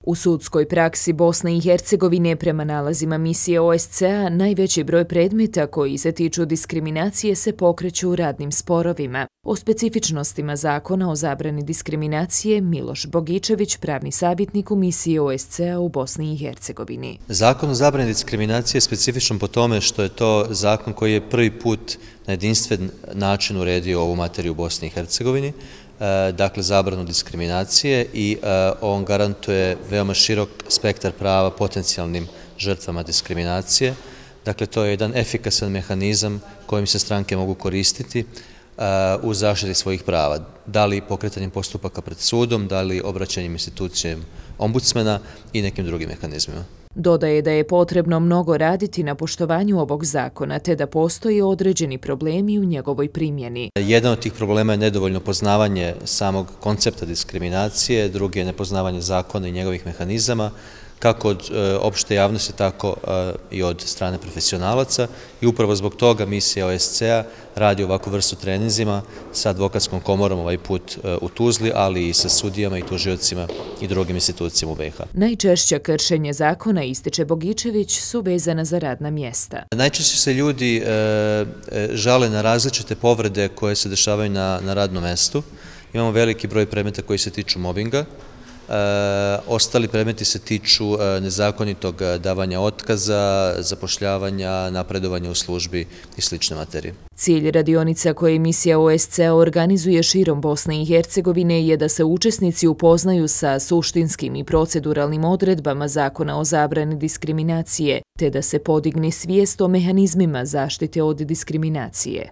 U sudskoj praksi Bosne i Hercegovine prema nalazima misije OSCE-a najveći broj predmeta koji se tiču diskriminacije se pokreću u radnim sporovima. O specifičnostima zakona o zabrani diskriminacije Miloš Bogičević, pravni savjetnik u misiji OSCE-a u Bosni i Hercegovini. Zakon o zabrani diskriminacije je specifičan po tome što je to zakon koji je prvi put na jedinstven način uredio ovu materiju u Bosni i Hercegovini, dakle zabranu diskriminacije, i on garantuje veoma širok spektar prava potencijalnim žrtvama diskriminacije. Dakle, to je jedan efikasan mehanizam kojim se stranke mogu koristiti u zaštiti svojih prava, da li pokretanjem postupaka pred sudom, da li obraćanjem institucijom ombudsmana i nekim drugim mehanizmima. Dodaje da je potrebno mnogo raditi na poštovanju ovog zakona, te da postoje određeni problemi u njegovoj primjeni. Jedan od tih problema je nedovoljno poznavanje samog koncepta diskriminacije, drugi je nepoznavanje zakona i njegovih mehanizama, kako od opšte javnosti, tako i od strane profesionalaca, i upravo zbog toga misija OSCE-a radi ovakvu vrstu treninzima sa advokatskom komorom, ovaj put u Tuzli, ali i sa sudijama i tužiocima i drugim institucijama u BiH. Najčešća kršenje zakona, ističe Bogičević, su vezana za radna mjesta. Najčešće se ljudi žale na različite povrede koje se dešavaju na radnom mestu. Imamo veliki broj predmeta koji se tiču mobinga. Ostali predmeti se tiču nezakonitog davanja otkaza, zapošljavanja, napredovanja u službi i slične materije. Cilj radionica koje misija OSCE organizuje širom Bosne i Hercegovine je da se učesnici upoznaju sa suštinskim i proceduralnim odredbama zakona o zabrani diskriminacije, te da se podigne svijest o mehanizmima zaštite od diskriminacije.